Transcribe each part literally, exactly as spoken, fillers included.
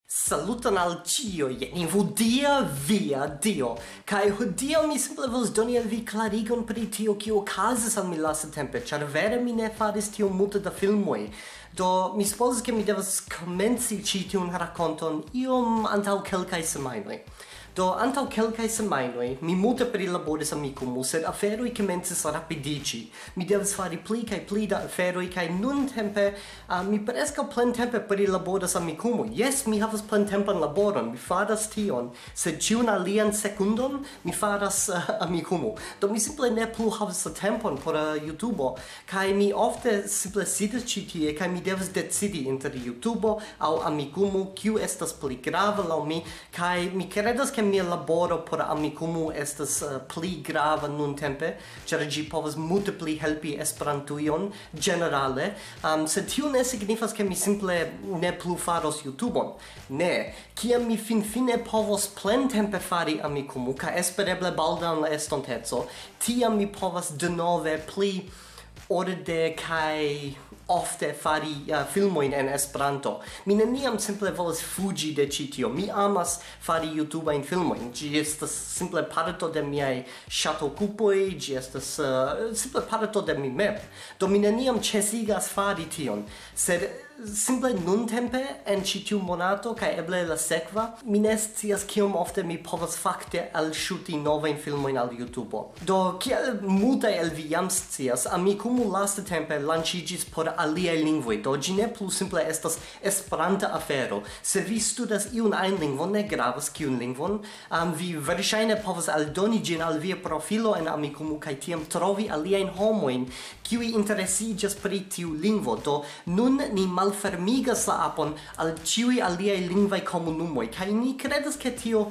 Saluton al ĉiuj, ni hodiaŭ via Dio. Kaj hodiaŭ mi simple volas doni al vi klarigon pri tio, kio okazis al mi lastatempe, ĉar vere mi ne faris tiom multe da filmoj. Do, mi supozas, ke mi devas komenci ĉi tiun rakonton iom antaŭ kelkaj semajnoj. Do, antaŭ kelkaj semajnoj mi multe prilaboris Amikumu, sed aferoj komencis rapidiĝi. Mi devas fari pli kaj pli da aferoj, kaj nuntempe, ah, mi preskaŭ plentempe prilaboras Amikumu. Jes, mi havas plentempan laboron, mi faras tion, sed ĉiun alian sekundon mi faras, ah, Amikumu. Do, mi simple ne plu havas la tempon por, ah, YouTube, kaj mi ofte simple sidas ĉi tie, kaj mi devas decidi inter YouTube aŭ Amikumu, kiu estas pli grava laŭ mi, kaj mi kredas, ke mia laboro por Amikumu estas, eh, pli grava nuntempe, ĉar ĝi povas multe pli helpi Esperantujon ĝenerale. Am, sed tio ne signifas, ke mi simple ne plu faros YouTube-on. Ne, kiam mi finfine povos plentempe fari Amikumu, kaj espereble baldaŭ en la estonteco, tiam mi povas denove pli orde kaj ofte fari, eh, filmojn en Esperanto. Mi neniam simple volas fuĝi de ĉi tio. Mi amas fari YouTube-ajn filmojn. Ĝi estas simple parto de miaj ŝatokupoj, ĝi estas, eh, simple parto de mi mem. Do, mi neniam ĉesigas fari tion. Sed simple nuntempe, en ĉi tiu monato, kaj eble la sekva, mi ne scias, kiom ofte mi povas fakte alŝuti novajn filmojn al YouTube. Do, kiel multaj el vi jam scias, Amikumu lastatempe lanĉiĝis por aliaj lingvoj, do ĝi ne plu simple estas Esperanta afero. Se vi studas iun ajn lingvon, ne gravas kiun lingvon, am, vi verŝajne povas aldoni ĝin al via profilo en Amikumu kaj tiam trovi aliajn homojn, kiuj interesiĝas pri tiu lingvo. Do, nun ni malfermigas la apon al ĉiuj aliaj lingvaj komunumoj, kaj ni kredas, ke tio,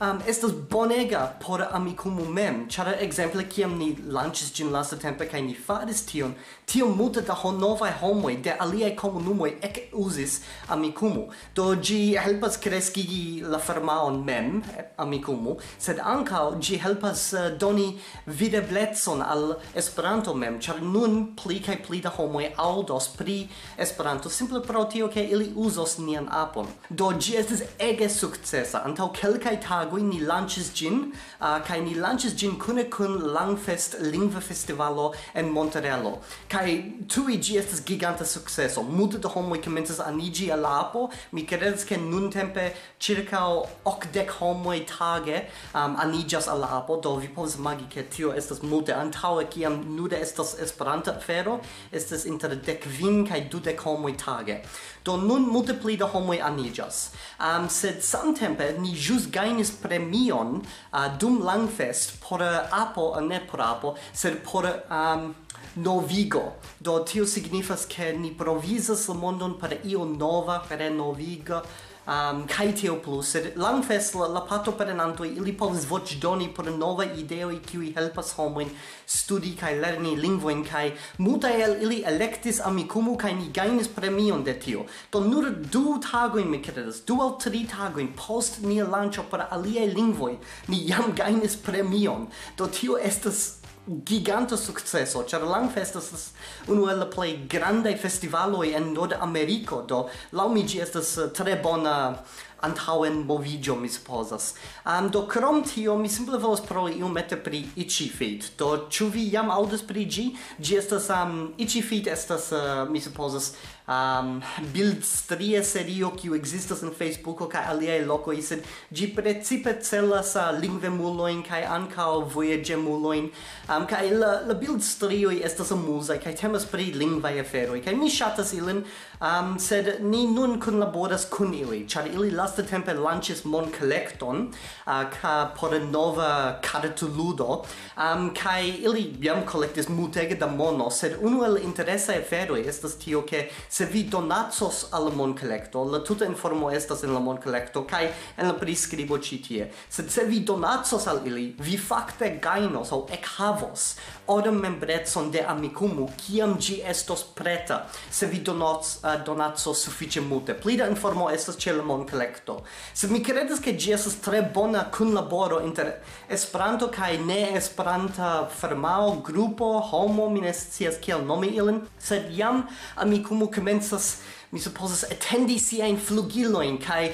am, estas bonega por Amikumu mem, ĉar ekzemple, kiam ni lanĉis ĝin lastatempe kaj ni faris tion, tiom multe da ho-, novaj homoj de aliaj komunumoj ekuzis Amikumu. Do, ĝi helpas kreskigi la firmaon mem, eh, Amikumu, sed ankaŭ ĝi helpas, eh, doni videblecon al Esperanto mem, ĉar nun pli kaj pli da homoj aŭdos pri Esperanto simple pro tio, ke ili uzos nian apon. Do, ĝi estis ege sukcesa. Antaŭ kelkaj tagoj ni lanĉis ĝin, ah, kaj ni lanĉis ĝin kune kun Langfest Lingva Festivalo en Montrealo. Kaj tuj ĝi estas giganta sukceso. Multe da homoj komencas aniĝi al la apo. Mi kredas, ke nuntempe ĉirkaŭ okdek homoj tage, um, aniĝas al la apo. Do, vi povas imagi, ke tio estas multe. Antaŭe, kiam nude estas Esperanta afero, estas inter dek kvin kaj dudek homoj tage. Do, nun multe pli da homoj aniĝas. Um, sed samtempe ni ĵus gajnis premion, uh, dum Langfest por, uh, apo, uh, ne por apo, sed por, um, novigo. Do, tio signifas, ke ni provizas la mondon per io nova, renoviga, um, kaj tio plus. Sed Langfest, la, la partoprenantoj, ili povas voĉdoni por novaj ideoj, kiuj helpas homojn studi kaj lerni lingvojn, kaj multaj el ili elektis Amikumu, kaj ni gajnis premion de tio. Do, nur du tagojn, mi kredas, du aŭ tri tagojn post nia lanĉo por aliaj lingvoj, ni jam gajnis premion. Do, tio estas giganta sukceso, ĉar Langfest estas unu el la plej grandaj festivaloj en Nordameriko, do laŭ mi ĝi estas, eh, tre bona antaŭenmoviĝo, mi supozas. Am, do, krom tio, mi simple volas paroli iomete pri Itchy Feet. Do, ĉu vi jam aŭdas pri ĝi? Ĝi estas, am, Itchy Feet estas, eh, mi supozas, am, bildstrie serio, kiu ekzistas en Facebooko kaj aliaj lokoj, sed ĝi precipe celas, ah, lingvemulojn kaj ankaŭ vojaĝemulojn. Am, kaj la, la bildstrioj estas amuzaj kaj temas pri lingvaj aferoj, kaj mi ŝatas ilin, am, sed ni nun kunlaboras kun ili, ĉar ili lastatempe lanĉis monkolekton, ah, ka-, por nova kartoludo, am, kaj ili jam kolektis multege da mono, sed unu el interesaj aferoj estas tio, ke se vi donacos al la monkolekto, la tuta informo estas en la monkolekto, kaj en la priskribo ĉi tie. Sed se vi donacos al ili, vi fakte gajnos aŭ ekhavos oran membrecon de Amikumu, kiam ĝi estos preta, se vi donac-, eh, donacos sufiĉe multe. Pli da informo estas ĉe la monkolekto. Sed mi kredas, ke ĝi estas tre bona kunlaboro inter Esperanto kaj ne-esperanta firmao, grupo, homo, mi ne scias kiel nomi ilin, sed jam Amikumu komencas Mi supozas etendi siajn flugilojn kaj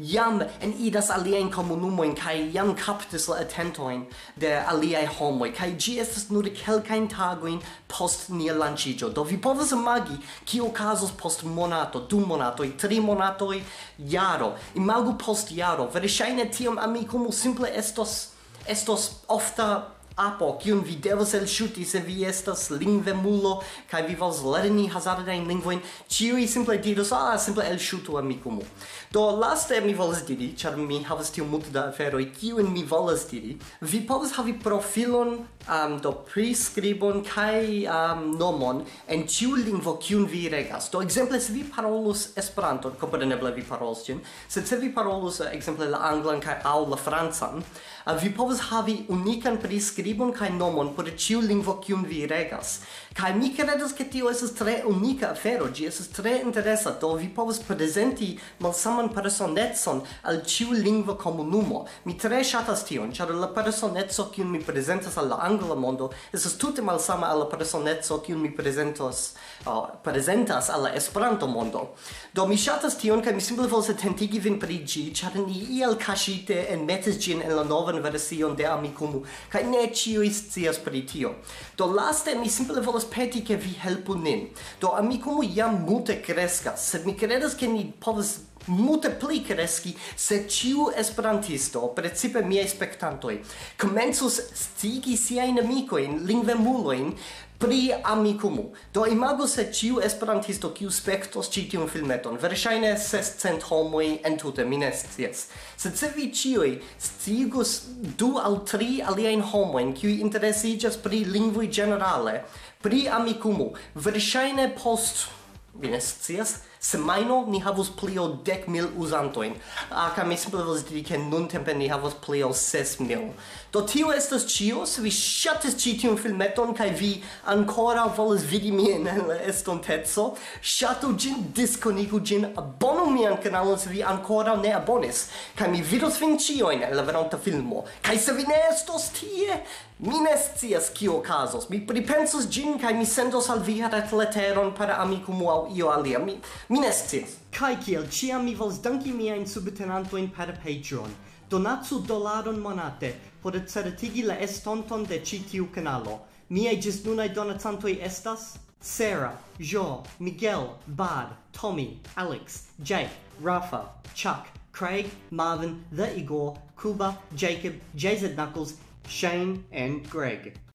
jam eniras aliajn komunumojn kaj jam kaptis la atentojn de aliaj homoj, kaj ĝi estas nur kelkajn tagojn post nia lanĉiĝo. Do vi povas imagi, kio okazos post monato, du monatoj, tri monatoj, jaro. Imagu post jaro. Verŝajne tiam Amikumu simple estos, estos ofta apo, kiun vi devas elŝuti se vi estas lingvemulo kaj vi volas lerni hazardajn lingvojn. Ĉiuj simple diros, "Ah, simple elŝutu Amikumu." Do laste mi volas diri, ĉar mi havas tiom multe da aferoj, kiujn mi volas diri. Vi povas havi profilon, um, do priskribon kaj, um, nomon en ĉiu lingvo, kiun vi regas. Do ekzemple, se vi parolus Esperanton, kompreneble vi parolos ĝin, sed se vi parolus, eh, ekzemple, la anglan kaj aŭ la francan, eh, vi povas havi unikan priskribon kaj nomon por ĉiu lingvo, kiun vi regas. Kaj mi kredas, ke tio estas tre unika afero, ĝi estas tre interesa, do vi povas prezenti malsaman personecon al ĉiu lingva komunumo. Mi tre ŝatas tion, ĉar la personeco, kiun mi prezentas al la angla mondo, estas tute malsama al la personeco, kiun mi prezentos, uh, prezentas al la Esperanto-mondo. Do mi ŝatas tion, kaj mi simple volas atentigi vin pri ĝi, ĉar ni iel kaŝite enmetis ĝin en la novan version de Amikumu, kaj ne ĉiuj scias pri tio. Do laste mi simple volas peti, ke vi helpu nin. Do Amikumu jam multe kreskas, sed mi kredas, ke ni povas multe pli kreski, se ĉiu esperantisto, precipe miaj spektantoj, komencus scigi siajn amikojn, lingvemulojn, pri Amikumu. Do imagu, se ĉiu esperantisto, kiu spektos ĉi tiun filmeton, verŝajne sescent homoj entute, mi ne scias. Sed se vi ĉiuj sciigus du aŭ tri aliajn homojn, kiuj interesiĝas pri lingvoj ĝenerale, pri Amikumu, verŝajne post, mi ne scias, semajno ni havus pli ol dek mil uzantojn. Ah, kaj mi simple volas diri, ke nuntempe ni havas pli ol ses mil. Do tio estas ĉio. Se vi ŝatis ĉi tiun filmeton kaj vi ankoraŭ volas vidi min en la estonteco, ŝatu ĝin, diskonigu ĝin, abonu mian kanalon, se vi ankoraŭ ne abonis. Kaj mi vidos vin ĉiujn en la venonta filmo. Kaj se vi ne estos tie, mi ne scias, kio okazos. Mi pripensos ĝin kaj mi sendos al vi retleteron per Amikumu aŭ io alia. Mi, mi ne scias. Kaj kiel ĉiam, mi volas danki miajn subtenantojn per Patreon. Donacu dolaron monate por certigi la estonton de ĉi tiu kanalo. Miaj ĝis nunaj donacantoj estas Sarah, Jo, Miguel, Bad, Tommy, Alex, Jake, Rafa, Chuck, Craig, Marvin, The Igor, Kuba, Jacob, J Z Knuckles, Shane and Greg.